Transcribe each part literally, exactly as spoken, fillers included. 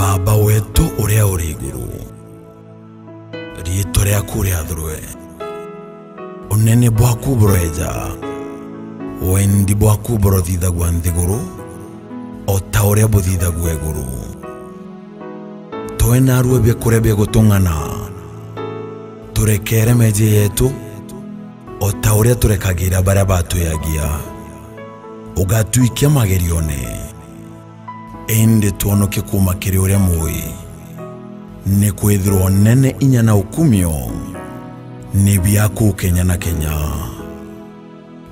Aba wetu uria uri iguru, riitwa riaku riathurwe, unene bwaku buroeja, wendi bwaku burothithagua nthiguru, o ta uria buthithagua iguru. Twe naarua biakuria bia gutung'ana, turekere meejie yetu, o ta uria turekagira baria batwiagia. Ugatwikia magerione, indi twonokie kuuma kiri uria mui, nikwithirwa unene, inya na ukumio ni biaku kenya na kenya.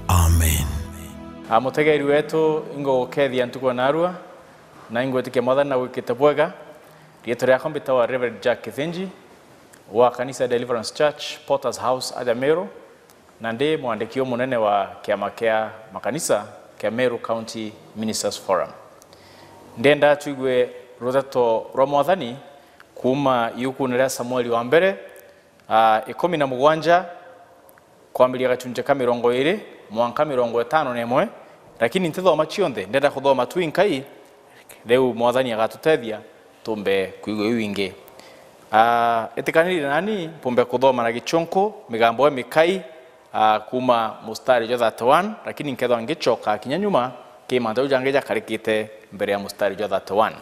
Amen. A, mutegeri wetu, ingugukethia ntuku ya naarua, na ingwitikia Mwathani na gwikite bwega. Riitwa riakwa mbitawa Reverend Jack Kithinji, wa kanisa ya Deliverance Church, Potter's House, aja Meru, na ndi mwandiki umunene wa kiama kia makanisa kia Meru County Ministers Forum. Ndienda twigue ruteto rwa Mwathani kuuma iukune ria Samueli wa mbere, a, ikumi na mugwanja, kwambiria gachunche ka mirongo iiri mwanka mirongo itano na imwe, lakini ntithoma cionthe, ndenda kuthoma tu inkai, riu Mwathani agatutethia tumbe kwigua iu ingi. A, itikaniri nani mpumbe kuthoma na gichunku migambo imikai, a, kuuma mustari jwa thirty-one, lakini nkethwa ngichoka kinya nyuma ki mantu jau jangi jakarikite mbere ya mustari jwa thirty-one.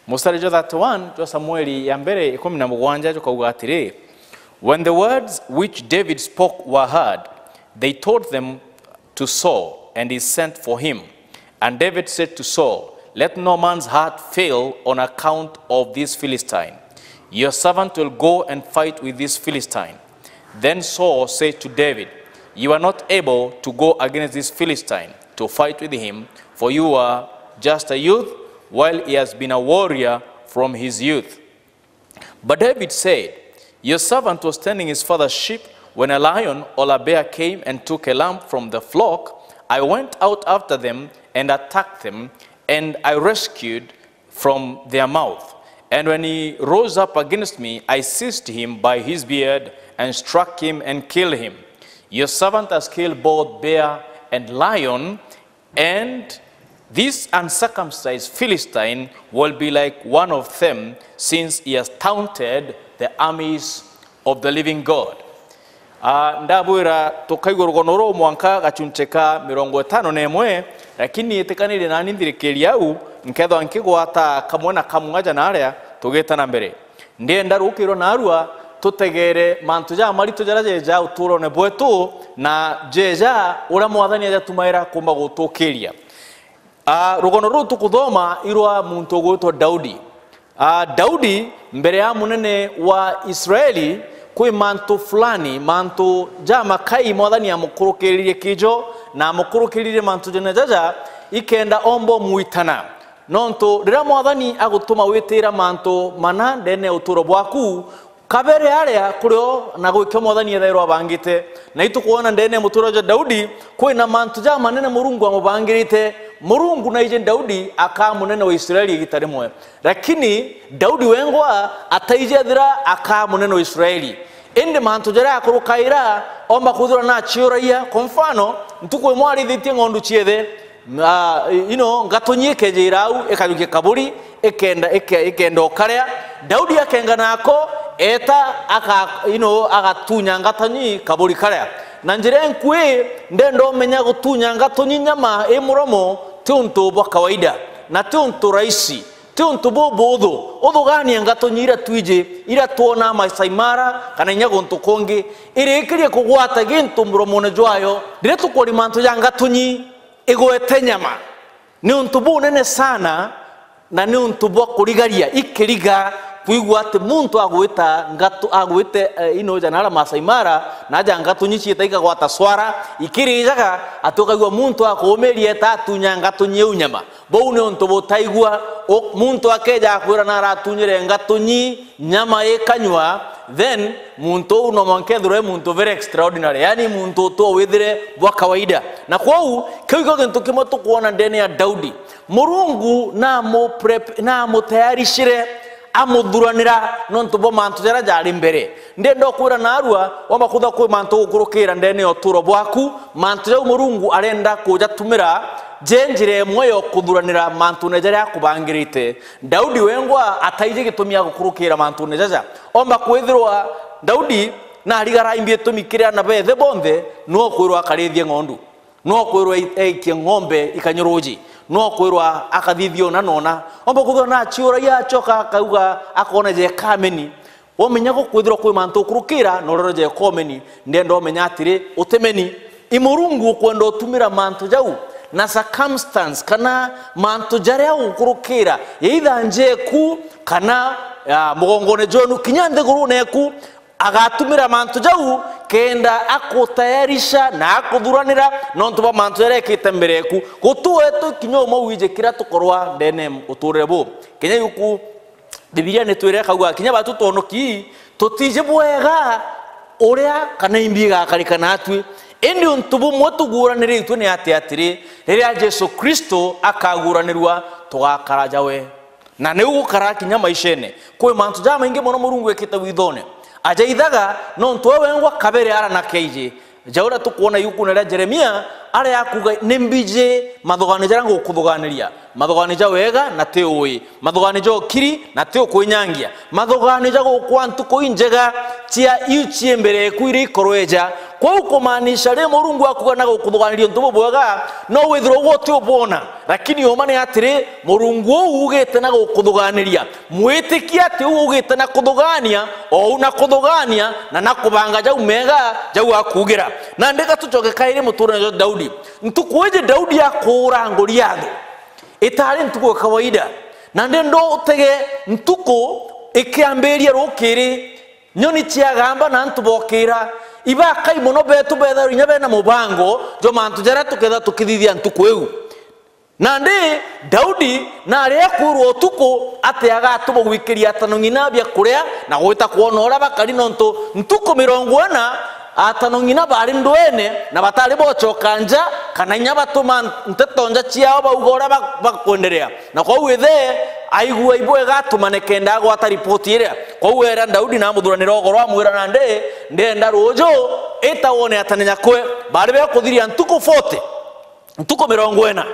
Mustari jwa thirty-one jwa Samueli ya mbere ikumi na mugwanja jukauga atiri, "When the words which David spoke were heard, they told them to Saul, and he sent for him. And David said to Saul, 'Let no man's heart fail on account of this Philistine. Your servant will go and fight with this Philistine.' Then Saul said to David, 'You are not able to go against this Philistine to fight with him, for you are just a youth, while he has been a warrior from his youth.' But David said, 'Your servant was tending his father's sheep when a lion or a bear came and took a lamb from the flock. I went out after them and attacked them, and I rescued from their mouth. And when he rose up against me, I seized him by his beard and struck him and killed him. Your servant has killed both bear and lion, and this uncircumcised Philistine will be like one of them, since he has taunted the armies of the living God.'" Ah, ndabwira tukaigua rugono ruu mwanka gachunche ka mirongo itano na imwe, lakini itikanirie nani nthirikiria au, nkethwa nkigwata kamwe na kamwe aja na aria tugita na mbere. Ndienda rukiro naarua tutegere mantu jamaritu jaria jeja uturone bwetu, na jeja uria Mwathani ajatumaira kumba gutukiria. Ah, rugono ruu tukuthoma irwa muntu ugwitwa Daudi. Ah, Daudi, mbere ya munene wa Israeli, kwi mantu fulani, mantu jamakai Mwathani amukurukiririe kijo, na amukurukiririe mantu jana jaja, ikenda omba umwitana. Nontu riria Mwathani agutuma witira mantu mana ndene ya uturo bwaku, kabere aria kuri o na gwikio Mwathani ethairwa abangite. Na itukwona ndene ya mutura jwa Daudi, kwina mantu jamanene Murungu amubangirite. Murungu naiji Daudi akaa munene wa Israeli igita rimwe. Lakini Daudi wengwa ataiji ethira akaa munene wa Israeli. Indi mantu jaria akurukaira, omba kwithirwa naciuragia. Kwa mfano, ntuku imwe arithitie ng'ondu ciethe, na, you know, ngatunyi ikejira au, ikajukia kaburi, ikenda, ike-, ikenda ukaria. Daudi akenga nako, eta, aka-, you know, agatunya ngatunyi kaburi karia. Na njira inkui, ndenda umenya gutunya ngatunyi nyama i muromo ti untu bwa kawaida, na ti untu rahisi. Ti untu bubuthu. Uthugania ngatunyi iria twiji, iria twonaa Maasai Mara, kana inya guntu kungi, irikirie kugwata gintu muromone jwayo. Riria tukwona mantu ja ngatunyi, igwete nyama. Ni untu bunene sana, na ni untu bwa kurigaria, ikiriga kwigua ati muntu agwita ngatu-, agwite, eh, ino jana aria Maasai Mara, na aja ngatunyi ciita ikagwata swara, ikirijaga, ati ukaigua muntu akuumiria eta atunya ngatunyi iu nyama. Buu ni untu butaigua. U-, muntu akeja akwira na aratunyire ngatunyi nyama ikanyua, then muntu uu no mwanka ethirwe e muntu very extraordinary, yani muntu utu withire bwa kawaida. Na kwou, kiu ikio gintu kimwe tukwona ndene ya Daudi. Murungu namu prep-, namutayarishire, amuthuranira nontu bwa mantu jaria jari mbere. Ndienda ukwira narua, wamba kwithirwa kwi mantu ugukurukira ndene ya uturo bwaku, mantu jau Murungu arenda kujatumira je njira imwe ya kuthuranira mantune jaria akubangirite. Daudi wengwa ataiji gitumi agukurukira mantune jaja. Omba kwithirwa Daudi narigara imbi itumi kiri ana bethe bonthe, no kwirwa akarithie ng'ondu. No kwirwa aikie ng'ombe ikanyuruji, no kwirwa akathithia ona nona. Omba kwithirwa naciuragia acoka akauga, akona jekameni. Wamenya gukwithirwa kwi mantu ukurukira na urero jekomeni, ndienda umenya atiri, utemeni. I Murungu ukwenda utumira mantu jau na circumstance kana mantu jaria ukurukira, either njeku kana, ah, mugongone jwenu, kinya nthigurune eku, agatumira mantu jau kenda akutayarisha na akuthuranira nontu bwa mantu jaria ekite mbere eku. Gutuetwe kinya umwe wiji kiria tukorwa ndene uturire bu. Kenya yuku Bibilia nitwire akauga, kinya batu twonoki, tutiji bwega uria kana imbi igakarika natwi. Indi untu bumwe tuguraniritwe ni ati atiri, riria Jesu Kristo akaguranirua, tugakara jawe. Na niu gukara kinya maishene. Kwi mantu jamaingi mono Murungu ekite withone. Ajaithaga nontu we wengwa kabere ara na keiji. Ja uria tukwona iukune ria Jeremia, aria akuga, ni mbiji mathugani jaria ngukuthuganiria. Mathugani ja wega na ti ui. Mathugani ja ukiri na ti ukwinyangia. Mathugani ja gukwa ntuku injega cia iu cii mbere eku iria ikorweja. Kwou kumaanisha ri Murungu akuga na gukuthuganiria untu bubwega, no withirwe ugwe uti ubwona. Lakini uma ni atiri, Murungu uu ugite na gukuthuganiria. Mwitikia ati uu ugite na kuthugania, ou na kuthugania, na na kubanga jau mega, jau akuugira. Nandi ga tucoke kairi muturire jwa Daudi. Ntuku iji Daudi akuura Goliathu, itari ntuku ya kawaida. Nandi ndo utege ntuku ikiambiria rukiri, nyoni ciagamba na antu bokira, ibakai mono betu bethairwe inya bena mubango jwa mantu jaria tuketha tukithithia ntuku iu. Nandi Daudi nari akwirwa utuku ati agatuma gwikiria atano ng'ina bia kuria na gwita kwona uria bakari, nontu ntuku mirongo ina atano ng'ina bari ndwene na batari bocoka nja, kana inya batuma nteto nja ciao bauga uria ba-, bakwenderea. Na kwou ithe aigua ibwega atumane kenda agwata ripoti iria. Kwou era Daudi na amuthuranira ugoro, amwira, nandi ndienda ruuju ita wone atane nyakwe. Bari bekuthiria ntuku forty. Ntuku mirongo ina.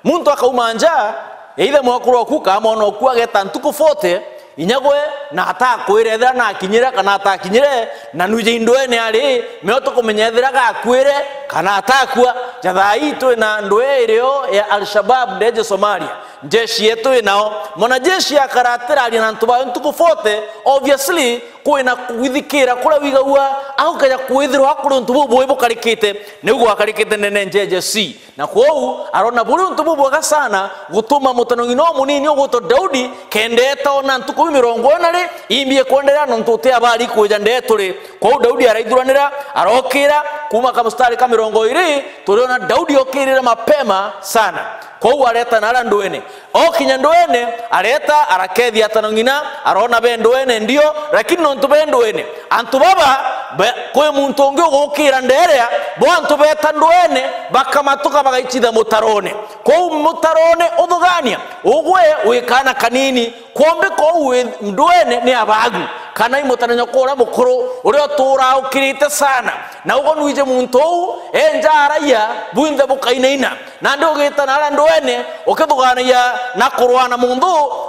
Muntu akauma nja, either mwekuru oku kana mwana oku ageta ntuku forty, inya gwe na atakwire ethira nakinyire kana atakinyire, na nwije indwene ari, meo tukumenya ethira gakwire kana atakua. Ja thaa ii twina ndwee irio ya Al-Shabab ndeje Somalia. Njeshi yetu inao. Mwanajeshi akaratiraria na antu bayo ntuku forty, obviously, kwina kwithikira kuria wigagua, agukeja kwithirwa kuri untu bubui bukarikite, niu gwakarikite nene njeje C. Na kwou, arona buri untu bubwega sana, gutuma mutano ng'ina umunini ugwitwa Daudi, kenda etona ntuku mirongo ina ri, imbi ikwenderea nontu uti abari kwija ndeturi. Kwou Daudi araithuranira, arokira, kuma kamustari ka mirongo iri, turiona Daudi okirire mapema sana. Kwou areta na aria ndwene. Okinya ndwene, areta, arakethia atano ng'ina, arona be ndwene ndio, lakini nontu be ndwene, antu baba, be-, kwi muntu ungi ugukira nderea, bo antu beta ndwene, bakamatuka bagaichitha mutarone. Kwou mutarone uthugania, ugwe wi kana kanini, kwombi kwou wi ndwene ni abagu, kana i mutana nyoko uria mukuru, uria uturaa ukirite sana. Na ugo nwije muntu uu, enja araia, bwinthe bukainaina. Nandi ugita na aria ndwene, ukithuganagia na kurwa na muntu,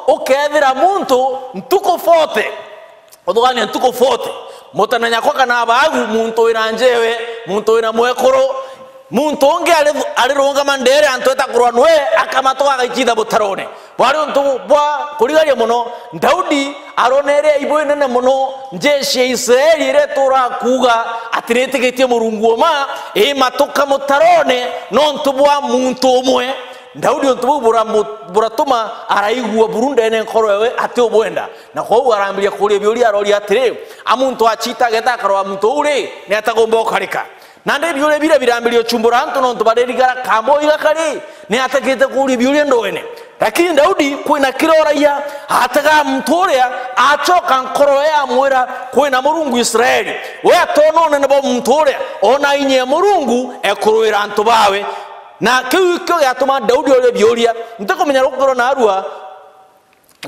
ukethira muntu ntuku forty. Uthugania ntuku forty. Mutana nyakwa kana abagu, muntu wina njewe, muntu wina mwekuru, muntu ungi ari-, arirungama ndeere antu eta kurwa nwe, akamatuka agaichitha butarone. Bwari untu bwa kurigaria mono. Daudi aronere aibu inene mono njeshi ya Israeli iria ituraa kuuga ati nitigitie Murungu uma, imatuka mutarone nontu bwa muntu umwe. Daudi untu buu buramu-, buratuma araigua buru ndene nkoro yawe ati ubwenda. Na kwou arambiria kuuria biuria, aroria atiri, a muntu achita ageta akarwa muntu uu ri, ni atagomba ukarika? Nandi biuria biria birambiria uchumbura antu nontu baririgara kamba uiga kari, ni ategete kuuria biuria ndwene. Lakini Daudi kwina kiria oragia, atega muntu uria, acoka nkoro ye amwira, kwina Murungu Israeli. We atona unene bwa muntu uria, ona inya ya Murungu ekurwira antu bawe. Na kiu ikio giatuma Daudi oria biuria. Ntikumenya rukorwo narua,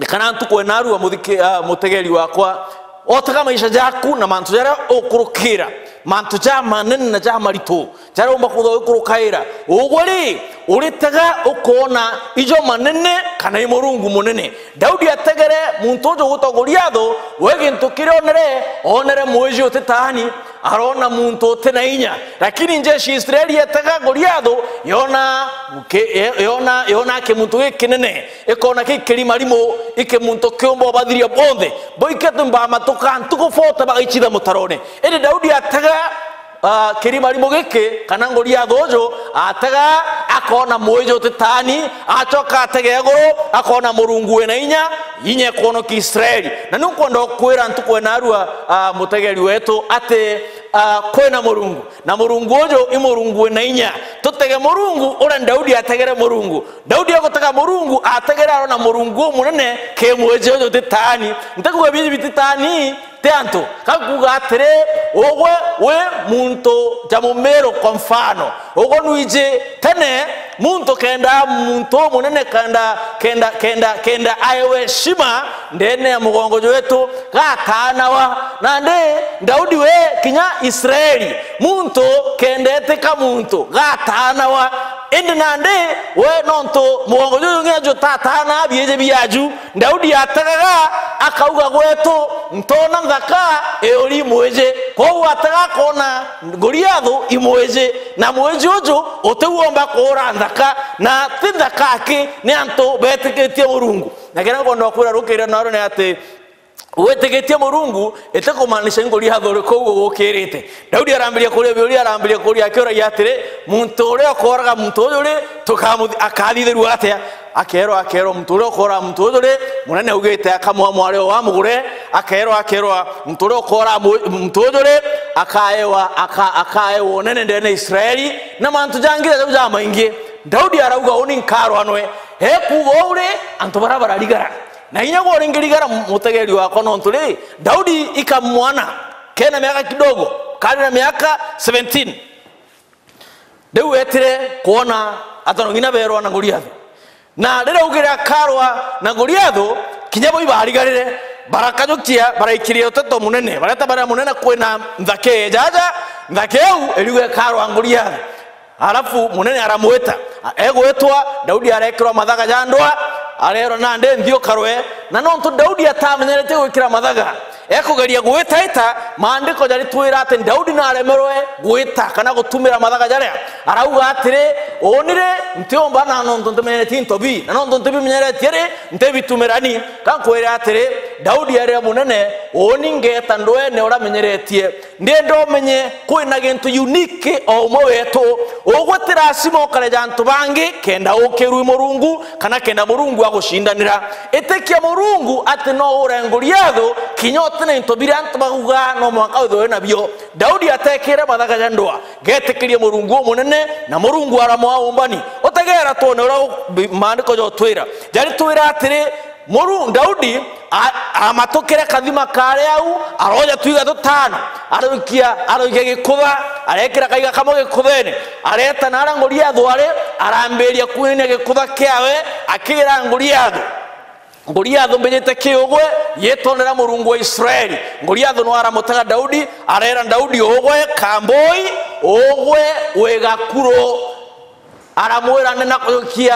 Kana ntuku ena arua muthiki-, ah, mutegeri wakwa, otega maisha jaku na mantu jaria ukurukira, mantu ja manene na ja maritu, jaria umba kwithirwa ukurukaira. Ugwe ri, uritega ukoona ijo manene kana i Murungu munene? Daudi ategere muntu uju ugwitwa Goliathu, we gintu kiria onere, onere mwiji utitaani, arona muntu uti na inya. Lakini njeshi ya Israeli yetega Goliathu, yona ki-, yona, yona kimuntu gikinene, ikona gikirimarimo, iki muntu kiumba ubathiria bonthe. Boikete mbamatuka ntuku forty bagaichitha mutarone. Indi Daudi atega, ah, kirimarimo giki, kana Goliathu uju, atega, akona mwiji utitaani, acoka atega iguru, akona Murungu wina inya, inya ikwonokia Israeli. Na ni nkwenda ukwira ntuku ena arua, ah, mutegeri wetu, ati, ah, kwina Murungu. Na Murungu uju i Murungu wina inya. Tutege Murungu uria Daudi ategere Murungu. Daudi agutega Murungu, ategere arona Murungu umunene, ki mwiji uju utitaani. Ntikuuga biji bititaani, ti antu. Ka kuuga atiri, ugwe wi muntu ja mumiru, kwa mfano. Ugwe nwiji tene, muntu kenda, muntu umunene kenda, kenda, kenda, kenda aewe heshima, ndene ya mugongo jwetu, gataanawa. Nandi Daudi we kinya Israeli, muntu kenda etika muntu, gataanawa. Indi nandi we nontu mugongo juju nginya jutataana biiji biaju, Daudi ategaga, akauga, gwetu, ntoona nthaka iuri mwiji. Kwou atega akoona Goliathu i mwiji, na mwiji uju uti womba kuura nthaka, na ti nthaka aki, ni antu betikitie Murungu. Na kiria nkwenda kwira rukiri naru ni ati, witikitie Murungu itikumaanisha i Goliathu uri kuu ugukirite. Daudi arambiria kuria biuria, arambiria kuria akiuragia atiri, muntu uria ukooraga muntu uju ri, tukamuthi-, akathithirua atia? Akeerwa, akeerwa, muntu uria ukooraga muntu uju ri, munene augite akamwa mwari o wa mugure. Akeerwa, akeerwa, muntu uria ukooraga mu-, muntu uju ri, akaewa, aka-, akaewa unene ndene ya Israeli, na mantu jangi jau jamaingi. Daudi arauga, uni nkarwa nwe. Ekuuga uu ri, antu baria bararigara. Na inya gwe uringirigara, mutegeri wakwa, nontu ri, Daudi ika mwana kena miaka kidogo, kari na miaka seventeen. Riu etire kwona ata no ngina berwa na Goliathu. Na riria augire akarwa na Goliathu, kinya bo ibarigarire, barakajukia, baraikiria uteto munene, bareta baria munene kwina nthaka ijaja, nthaka iu iriuga ikarwa na Goliathu. Alafu munene aramwita. A-, egwitwa, Daudi arekirwa mathaga ja ndwa, arerwa, nandi nthi ukarwe. Na nontu Daudi atamenyeretie gwikira mathaga, ekugeria gwitaita, maandiko jaritwira ati Daudi naremerwe gwita kana gutumira mathaga jaria. Arauga atiri, uni ri, ntiumba na nontu ntimenyeretie into bi, na nontu ntibimenyeretie ri, ntibitumira ni. Ka nkwire atiri, Daudi arira munene, uni ngeeta ndwene uria menyeretie. Ndienda umenye, kwina gintu unique o umwe wetu. Ugwe ti lazima ukareja antu bangi kenda ukirwi Murungu, kana kenda Murungu agucindanira. Itikia Murungu ati no ure Goliathu, kinya uti na into biria antu bauga no mwanka withirwe nabio. Daudi atekire mathaga ja ndwa, getikirie Murungu umunene, na Murungu aramwa umbani. Utegera twone uria u-, bi-, maandiko jotwira. Jaritwira atiri, Muru-, Daudi a-, amatukire kathima kari au, aroja twiga tutano, aroikia, aroikia gikutha, arekira kaiga kamwe gikuthene, areta naria Goliathu ari, arambiria kwinania gikutha kiawe, akira Goliathu, Goliathu, mbijite ki ugwe, yitonera Murungu wa Israeli. Goliathu no aramutega Daudi, arera Daudi, ugwe kambui, ugwe wi gakuru. Aramwira, nena kujukia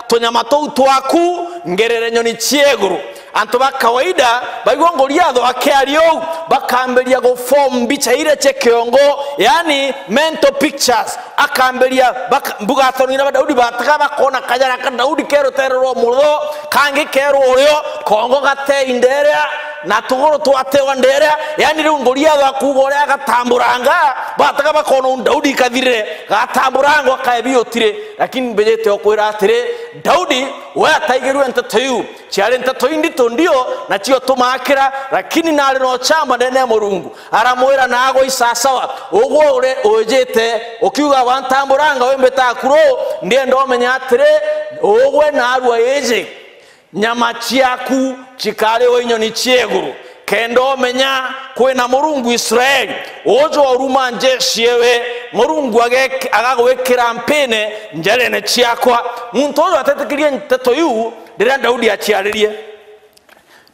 tunyama tuu twaku ngerere nyoni cia iguru. Antu ba kawaida baigua Goliathu akiaria uu, bakambiria gu form mbicha iria cia kiongo, yani mental pictures. Akambiria, baka-, mbuga atongi na Daudi batega bakona kajara ka Daudi ke rutere rwa mutho, kangi ke rwa urio, kongo gate inderea, na tuguru twatewa nderea. Yani riu Goliathu akuuga uria agatamburanga, batega bakona uu Daudi kathirire. Gatamburango kaebi utiri, lakini mbijite ukwira atiri, Daudi we ataigirue nteto iu. Ciari nteto indito ndio, na cio tumakira, lakini nari no chamba ndene ya Murungu. Aramwira, nagwe isasawa, ugwe uri ujite, ukiuga wantamburanga wimbita akuru, ndienda umenya atiri, ugwe narua iji. Nyama ciaku cikariwa inyoni cia iguru, kenda umenya kwina Murungu Israeli, uju uruma njeshi ewe, Murungu agek-, agagwikira mpine njarene ciakwa. Muntu uju atetikirie nteto iu riria Daudi aciaririe.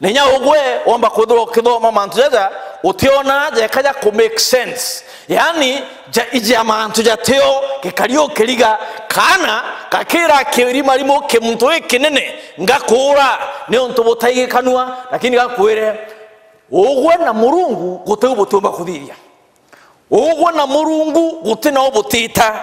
Na inya ugwe womba kwithirwa ukithoma mantu jaja, utiona jeka ja ku make sense. Yaani, ja, ija mantu jatio, gikari ukiriga, kana gakira kirimarimu ki muntu gikinene, ngakuura, niuntu butaigikanua, lakini gakwire, ugwe na Murungu gutiu butiumba kuthithia. Ugwe na Murungu guti na ubutita.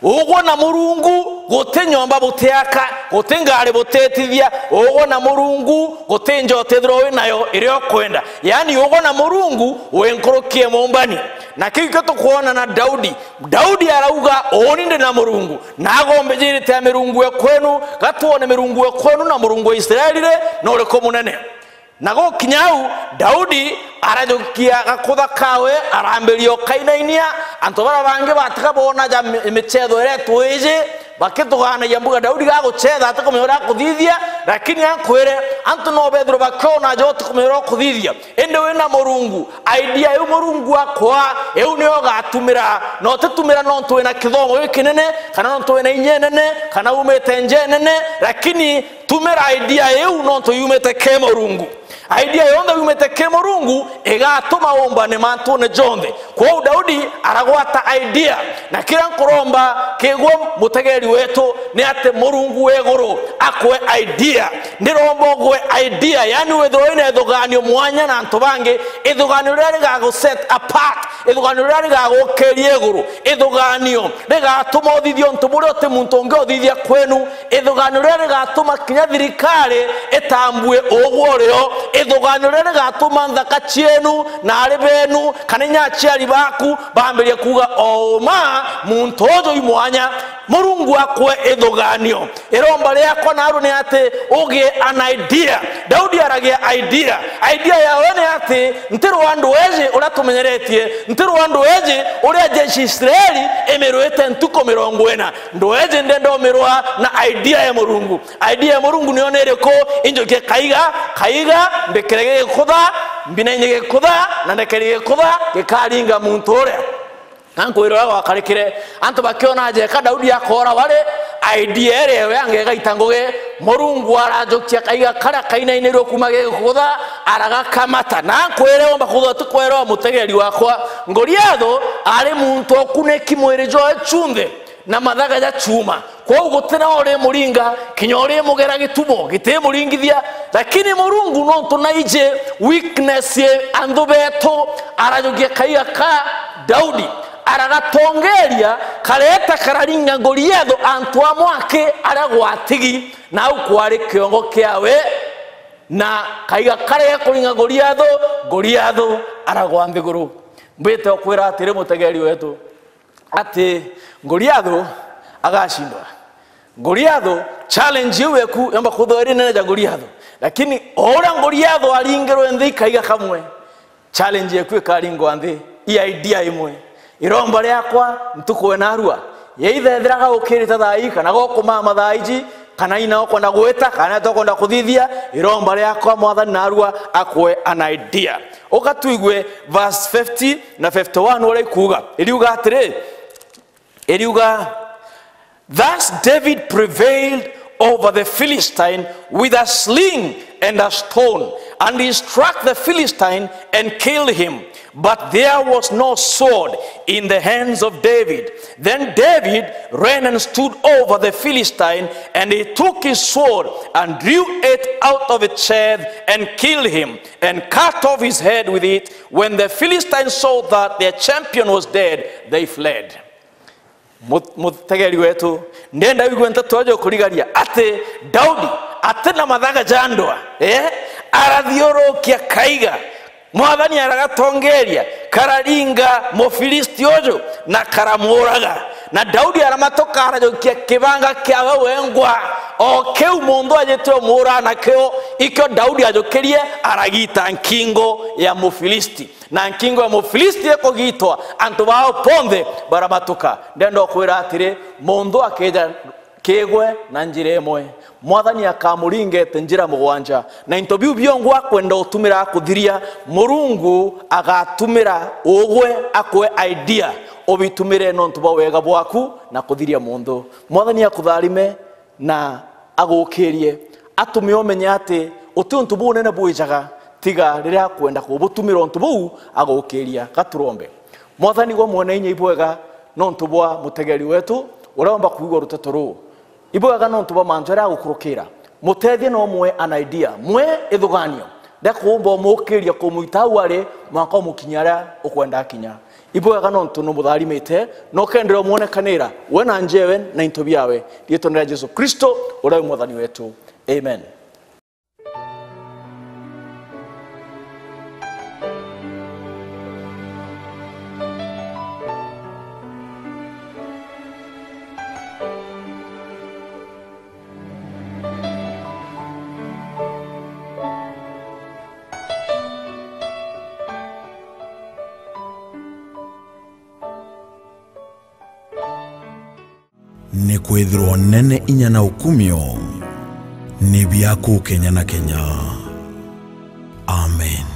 Ugwe na Murungu guti nyomba butiaka, guti ngari butetithia. Ugwe na Murungu guti nja utethirwa wi nayo iria ukwenda. Yaani, ugwe na Murungu wi nkuruki e mumbani. Na kiu kio tukwona na Daudi. Daudi arauga, "Uuni ndi na Murungu." Na agombijirite mirungu e kwenu, gatwone mirungu e kwenu na Murungu wa Israeli ri, na uriku munene. Na gukinya au, Daudi arajukia gakutha kawe, arambiria ukainainia. Antu baria bangi batiga boona ja mi-, michetho iria twiji, bakituganagia mbuga Daudi gaguchetha atikumenya uria akuthithia, lakini ankwire, antu no bethirwe bakiona ja utikumenya uria ukuthithia. Indi wina Murungu, idea iu Murungu akwa, iu niyo ugatumira. Na utitumira nontu wina kithomo gikinene, kana nontu wina inya inene, kana umite nja inene, lakini tumira idea iu nontu yumite ki Murungu. Idea yonthe yumite ki Murungu igatuma umbane mantune jonthe. Kwou Daudi aragwata idea, na kiria nkuromba kigwe mutegeri wetu ni ati Murungu wa iguru akwe idea. Ndiromba ugwe idea, yani withirwe wina ithuganio mwanya na antu bangi, ithuganio riria rigagu set apart, ithuganio riria rigagukiria iguru, ithuganio rigatuma uthithia untu buria uti muntu ungi uthithia kwenu, ithuganio riria rigatuma kinya thirikari itambue ugwe urio, ithuganio riria rigatuma nthaka cienu na ari benu kana inya aciari baku bambirie kuuga, "O uma, muntu uju i mwanya." Murungu akwe ithuganio. Iromba riakwa naru ni ati ugie an idea. Daudi aragia idea. Idea yawe ni ati, "Ntirwa ndweji uria tumenyeretie, ntirwa ndweji uria jeshi Israeli imirwite ntuku mirongo ina. Ndweji ndenda umirwa na idea ya Murungu." Idea ya Murungu niyo ni iriku? Injukie kaiga, kaiga, mbikire gigikutha, mbinainye gikutha, na ndekeri gikutha gikaringa muntu uria. Na nkwira uria gwakarikire, antu bakiona jeka Daudi akoora wari, idea iria ewe angegaita ngugi, Murungu arajukia kaiga karia kainainirwe kuuma gigikutha, aragakamata. Na nkwire, womba kwithirwa ti kwerwa, mutegeri wakwa, Goliathu ari muntu ukuniki mwiri jwawe junthe na mathaga ja chuma. Kwou guti na urimuringa, kinya urimugera gitumo gitimuringithia. Lakini Murungu nontu naiji weakness ya anthu betu, arajukia kaiga ka Daudi, aragatongeria, kareeta kararinga Goliathu antu amwe aki aria gwatigi, na au kwari kiongo kiawe, na kaiga karia gakuringa Goliathu, Goliathu aragwa nthiguru. Mbite ukwira atiri, mutegeri wetu, ati Goliathu agacindwa. Goliathu, challenge iu eku yomba kwithirwa iri nene ja Goliathu. Lakini o uria Goliathu aringirwe nthi i kaiga kamwe, challenge eku ikaringwa nthi i idea imwe. Iromba riakwa ntuku ena arua, yeitha ethira gaukirite thaa ii, kana gokumama thaa iji, kana ina ukwenda gwita, kana ita ukwenda kuthithia, iromba riakwa Mwathani narua akwe an idea. Uka tuigue verse fifty na fifty-one uria ikuuga. Iriuga atiri, iriuga, "Thus David prevailed over the Philistine with a sling and a stone, and he struck the Philistine and killed him. But there was no sword in the hands of David. Then David ran and stood over the Philistine, and he took his sword and drew it out of its sheath and killed him, and cut off his head with it. When the Philistines saw that their champion was dead, they fled." Mu-, mutegeri wetu, ndenda wigue nteto ijo kurigaria ati Daudi ati na mathaga ja ndwa, eh, arathiurukia kaiga, Mwathani aragatongeria, kararinga Mufilisti uju na karamuuraga. Na Daudi aramatuka arajukia kibanga kiawe wengwa, o kiu muntu ajite umuuraga nakio, ikio Daudi ajukirie, aragita nkingo ya Mufilisti. Na nkingo ya Mufilisti ikugitwa, antu bao bonthe baramatuka. Ndenda ukwira atiri, muntu akeja kigwe na njira imwe, Mwathani akamuringete njira mugwanja, na into biu biongu akwenda utumira akuthiria, Murungu agatumira ugwe akwe idea, ubitumire nontu bwa wega bwaku na kuthiria muntu. Mwathani akutharime na agukirie, atume umenye ati Uti untu bunene bwijaga, tiga riria akwenda kubutumira untu buu agukiria. Gaturombe. Mwathani gwa mwene inya, ibwega nontu bwa mutegeri wetu uria omba kuigua ruteto ruu. Ibwega nontu bwa mantu jaria agukurukira. Mutethie na umwe an idea, mwe ithuganio ria kuumba umukiria, kumuita au ari mwanka umukinyia aria ukwenda akinya. Ibwega nontu numutharimite na ukendera umwonekanira we na njewe na into biawe. Riitwa ria Jesu Kristo uria wi mwathani wetu. Amen. Nikwithirwa unene, inya na ukumio ni biaku kenya na kenya. Amen.